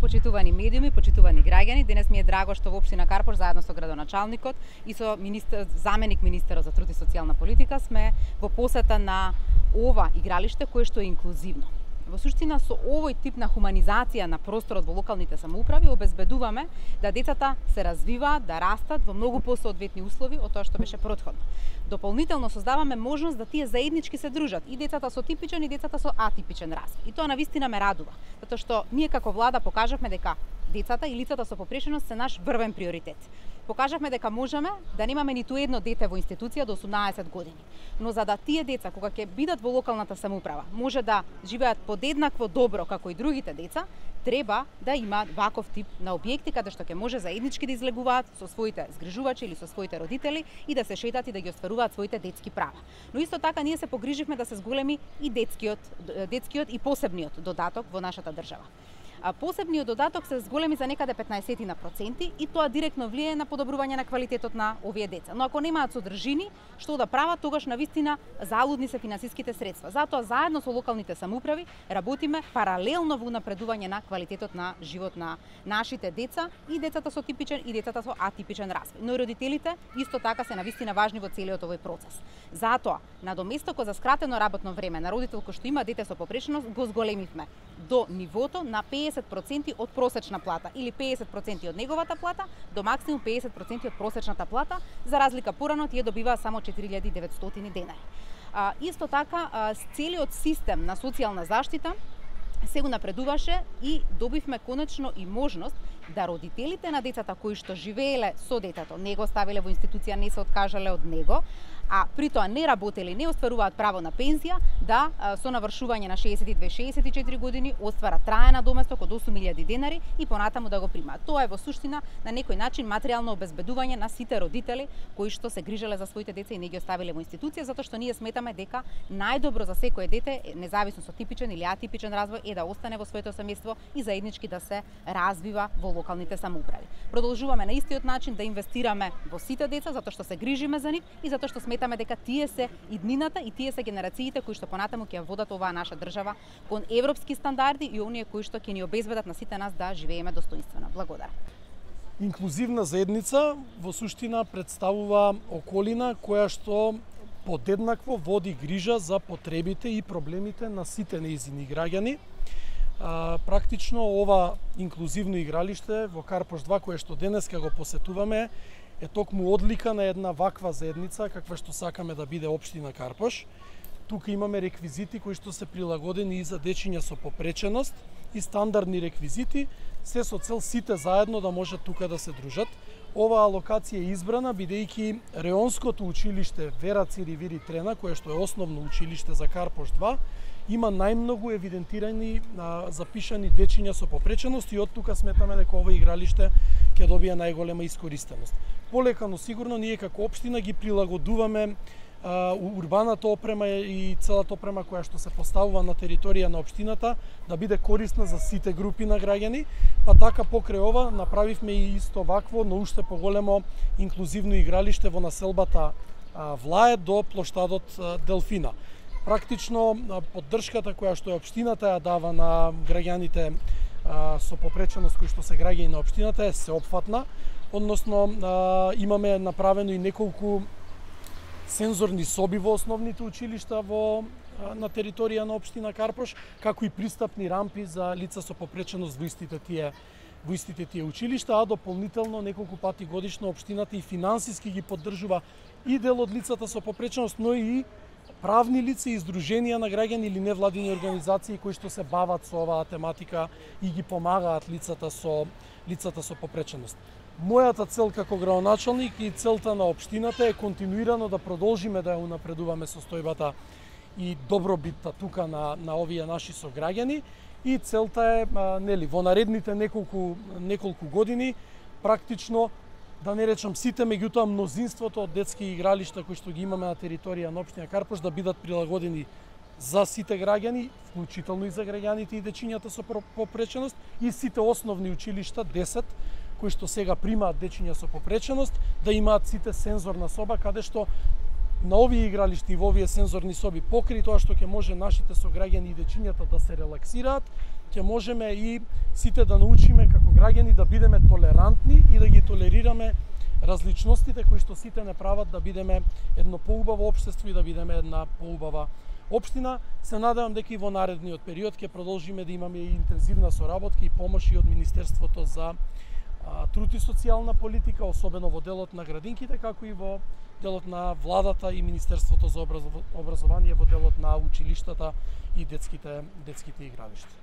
почитувани медиуми, почитувани граѓани, денес ми е драго што во општина Карпош заедно со градоначалникот и со заменик министерот за труд и социјална политика сме во посета на ова игралиште кое што е инклузивно. Во суштина со овој тип на хуманизација на просторот во локалните самоуправи обезбедуваме да децата се развиваат, да растат во многу посоодветни услови од тоа што беше претходно. Дополнително создаваме можност да тие заеднички се дружат, и децата со типичен и децата со атипичен развој. И тоа навистина ме радува, затоа што ние како влада покажавме дека децата и лицата со попреченост се наш врвен приоритет. Покажавме дека можеме да немаме ниту едно дете во институција до 18 години. Но за да тие деца, кога ќе бидат во локалната самоуправа, може да живеат подеднакво добро како и другите деца, треба да има ваков тип на објекти каде што ќе може заеднички да излегуваат со своите згрижувачи или со своите родители и да се шетат и да ги остваруваат своите детски права. Но исто така ние се погриживме да се зголеми и детскиот и посебниот додаток во нашата држава. Посебниот додаток се зголеми за некаде 15% и тоа директно влијае на подобрување на квалитетот на овие деца. Но ако немаат содржини, што да прават, тогаш навистина залудни се финансиските средства. Затоа заедно со локалните самоуправи работиме паралелно во унапредување на квалитетот на живот на нашите деца, и децата со типичен и децата со атипичен развој. Но и родителите исто така се навистина важни во целиот овој процес. Затоа, надоместокот за скратено работно време на родител кој што има дете со попреченост го зголемивме до нивото на 50% од просечна плата или 50% од неговата плата до максимум 50% од просечната плата, за разлика порано тие добиваа само 4900 денари. Исто така, целиот систем на социјална заштита се напредуваше и добивме конечно и можност да родителите на децата кои што живееле со детето, не го ставиле во институција, не се откажале од него, а при тоа не работеле, не остваруваат право на пензија, да со навршување на 62-64 години остварат траен надоместок од 8000 денари и понатаму да го примаат. Тоа е во суштина на некој начин материјално обезбедување на сите родители кои што се грижеле за своите деца и не ги оставиле во институција, затоа што ние сметаме дека најдобро за секое дете, независно со типичен или атипичен развој, е да остане во своето семејство и заеднички да се развива во локалните самоуправи. Продолжуваме на истиот начин да инвестираме во сите деца затоа што се грижиме за нив и затоа што сметаме дека тие се иднината и тие се генерациите кои што понатаму ќе водат оваа наша држава кон европски стандарди и оние кои што ќе ни обезбедат на сите нас да живееме достоинствено. Благодарам. Инклузивна заедница во суштина представува околина која што подеднакво води грижа за потребите и проблемите на сите нејзини граѓани. Практично ова инклузивно игралиште во Карпош 2 кое што денеска го посетуваме е токму одлика на една ваква заедница каква што сакаме да биде општина Карпош. Тука имаме реквизити кои што се прилагодени и за дечиња со попреченост и стандардни реквизити, се со цел сите заедно да можат тука да се дружат. Оваа локација е избрана бидејќи Реонското училиште Вера Циревири Трена, кое што е основно училиште за Карпош 2, има најмногу евидентирани запишани дечиња со попреченост и од тука сметаме дека ова игралиште ќе добие најголема искористеност. Полека, но сигурно ние како општина ги прилагодуваме урбаната опрема и целата опрема која што се поставува на територија на општината да биде корисна за сите групи на граѓани, па така покрај ова направивме и исто вакво, но уште поголемо инклузивно игралиште во населбата Влае до плоштадот Делфина. Практично поддршката која што општината ја дава на граѓаните со попреченост кои што се граѓани на општината е сеопфатна, односно имаме направено и неколку сензорни соби во основните училишта на територија на општина Карпош, како и пристапни рампи за лица со попреченост во истите тие училишта, а дополнително неколку пати годишно општината и финансиски ги поддржува и дел од лицата со попреченост, но и правни лица и издруженија на граѓани или невладини организации кои што се бават со оваа тематика и ги помагаат лицата со попреченост. Мојата цел како градоначалник и целта на општината е континуирано да продолжиме да ја унапредуваме состојбата и добробитта тука на овие наши сограѓани, и целта е во наредните неколку години практично, да не речам сите, меѓутоа мнозинството од детски игралишта кои што ги имаме на територија на општина Карпош да бидат прилагодени за сите граѓани, вклучително и за граѓаните и дечињата со попреченост, и сите основни училишта 10 кои што сега примаат дечиња со попреченост да имаат сите сензорна соба каде што на овие игралишта и во овие сензорни соби, покрај тоа што ќе може нашите сограѓани и дечињата да се релаксираат, ќе можеме и сите да научиме како граѓани да бидеме толерантни и да ги толерираме различностите кои што сите не прават да бидеме едно поубаво општество и да бидеме една поубава општина. Се надевам дека и во наредниот период ќе продолжиме да имаме и интензивна соработка и помош и од Министерството за труд и социјална политика, особено во делот на градинките, како и во делот на владата и Министерството за образование во делот на училиштата и детските игралишта.